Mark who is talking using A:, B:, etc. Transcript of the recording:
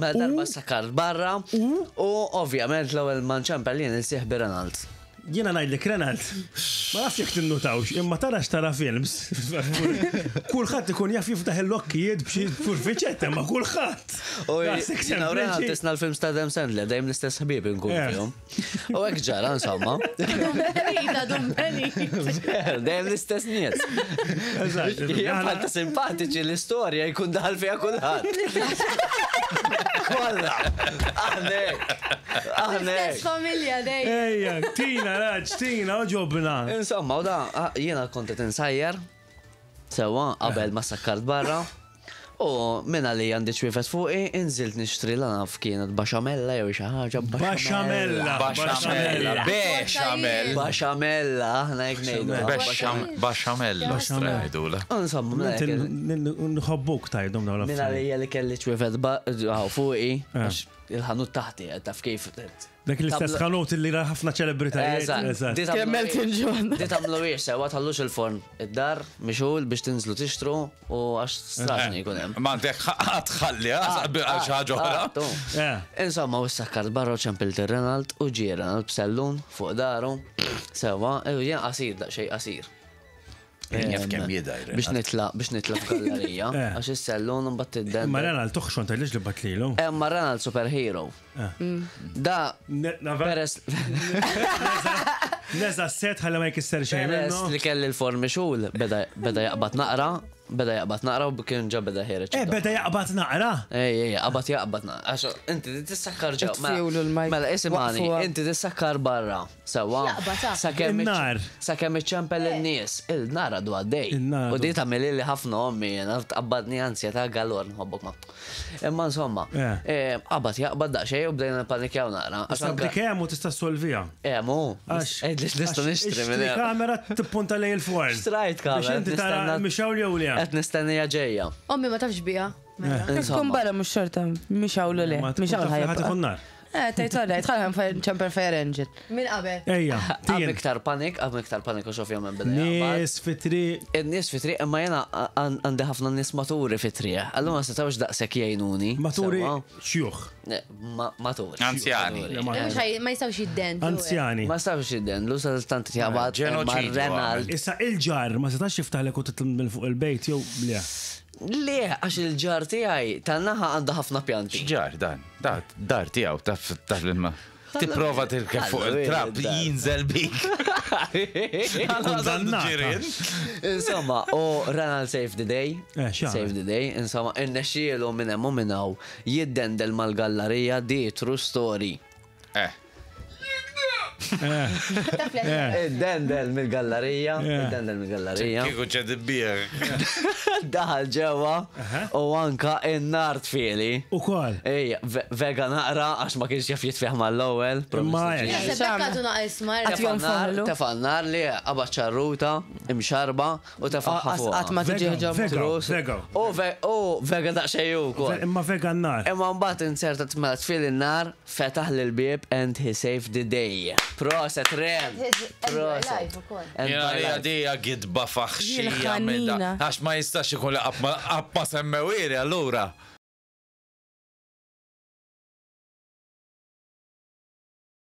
A: Mela darba sakkart barra u ovvjament l-ewwel ma nċempel jien il-sieħbi Renald.
B: Jiena ngħidlek Renald, ma nafx jekk tinnutawx, imma tara x'tara films. Kulħadd ikun jaf jiftaħ il-lokkijiet b'xi furfiċetta, ma kulħadd.
A: U jiena u Renald tisna l-films ta' Adam Sandler, dejjem l-istess ħbieb inkun eh. fihom. U hekk ġara insomma. Dejjem l-istess nies. Jien ta' simpatiċi l-istorja jkun daħal fiha kulħadd. Kollha. Aħnek. Aħnek.
C: Stess familja dejjem.
B: Ejja, tina, raġ, tina, oġobna.
A: Insomma, u da jiena kont qed insajjar sewwa qabel ma sakkart barra. U minn għalija għandi ċwievet fuqi, inżilt nixtri la naf kienet baxamella jew xi ħaġa.
B: Baxamella.
D: Baxamella. Bexamel.
A: Baxamella, aħna hekk ngħidu.
D: Baxamella. Ngħidula.
A: Insomma, mela
B: Nħobbuk tajdhom dawn
A: Minn għalija li kelli ċwievet fuqi, għax il-ħanut taħti, taf kif.
B: Dak l-istess ħanut li ra ħafna ċelebritajiet.
A: Eżatt.
E: Kemm Elton John.
A: Di tagħmlu hiex sewa tħallux il-forn id-dar mixgħul biex tinżlu tixtru u għax straġni jkun hemm.
D: Ma għandek ħadd ħalli għal xi ħaġa oħra.
A: Insomma, u sakkart barra u ċempilt ir-Renald u ġie Renald b'sellun fuq daru. Sewa, jien qasir daqsxejn qasir.
D: Jaf kemm jidher.
A: Biex nitla, biex nitla f'gallerija, eh. għax is-sellun mbagħad tidden.
B: Ma Renald toħxon tgħidlix li batlilu.
A: Eh, ma Renald superhero. Eh. Mm. Da peress
B: Neza set ħalli ma jkisser xejn.
A: Peress li kelli l-forn mixul beda jaqbad naqra, beda jaqbad naqra u kien ġa beda ħireġ.
B: Eh, beda jaqbad naqra?
A: Ej, ej, qabad jaqbad naqra. Għax inti tissakkar ġew. Mela isimani, inti tissakkar barra. Sewwa. Sakemm
B: In-nar.
A: Sakemm iċċempel in-nies, il-nar għadu għaddej.
B: In-nar
A: U
B: għadu.
A: di tagħmilili ħafna ommi jiena, tqabbadni ansjetà galore nħobbok ma. Imma insomma,
B: Eh.
A: eh, qabad jaqbad daqsxejn u bdejna nippanikjaw naqra. Għax
B: Issa
A: anke
B: dik hemm u tista' ssolviha.
A: hemm hu.
B: Għax.
A: Għidli x'nistgħu
B: għax
A: nixtri minn
B: ixtri
A: hemm.
B: kamera tippunta lejn il-forn.
A: Xtrajt kamera,
B: Biex inti tara
A: nistenna-
B: mixgħul jew le.
A: Qed nistennija ġejja.
C: Ommi ma tafx biha. Mela.
E: Tkun
A: Insomma.
E: barra mhux xorta, mhix hawn le,
B: Ma
E: mhix
B: tkun
E: hawn
B: taf li ħadd
E: ħajja.
B: ikun nar.
E: Eh, tgħid all right, ħalli ċemper fire engine.
C: Min qabel?
B: Ejja,
A: Għam
B: tien.
A: iktar panik, għam iktar panik u ovvjament beda jaqbad.
B: Nies fit-triq.
A: In-nies fit-triq, imma jena għandi ħafna nies maturi fit-triq. Allura ma setgħux daqshekk jgħinuni.
B: Maturi
A: Sewwa?
B: xjuħ.
A: Ne, ma- Maturi.
D: Anzjani.
A: Maturi.
B: Le, ma-
C: Mhux ħaj- Ma jistgħux jiddendlu.
B: Anzjani.
A: Ma setgħux jidden, sa tant jaqbad.
D: Ġenoċidju
A: Renald.
B: Issa il-ġar ma setax jiftaħlek u titlaq minn fuq il-bejt jew le.
A: Le, għax il-ġar tiegħi tan-naħa għandu ħafna pjanti.
D: X'ġar dan? Da, dar tiegħu taf taf l-ilma. Tipprova tirkeb fuq il-trab jinżel bik.
B: Kundannata.
A: Insomma, u Renald save the day.
B: Eh, x'għamel?
A: Save the day. Insomma, innexxielu minn hemm u minn hawn jiddendel mal-gallarija di true story.
D: Eh.
B: Eh.
A: Id-dendel mill-gallerija, id-dendel mill-gallerija.
D: Kieku ċed bir.
A: Daħal ġewwa u anka in-nar tfieli.
B: Ukoll.
A: Ej, vega naqra għax ma kienx jaf jitfih mal-ewwel.
B: Imma hekk.
C: Naħseb hekk għadu naqis marra.
E: Għad jonfoħlu.
A: Tefa' n-nar li qabad ċarruta, imxarba u tefaħħa fuq.
E: Qatt ma tiġi ġo.
B: Vega, vega.
A: U ve- U vega daqsxejn ukoll.
B: Imma vega n-nar.
A: Imma mbagħad inserta mela tfil in-nar, fetaħ lil bieb and he saved the day. Proset Ren. Proset. And
D: Jena
A: my
D: li
A: life.
D: għadija gidba faħxija
E: Jien
D: minn da.
E: ħanina.
D: Għax ma jistax ikun li qatt ma semmewiri allura.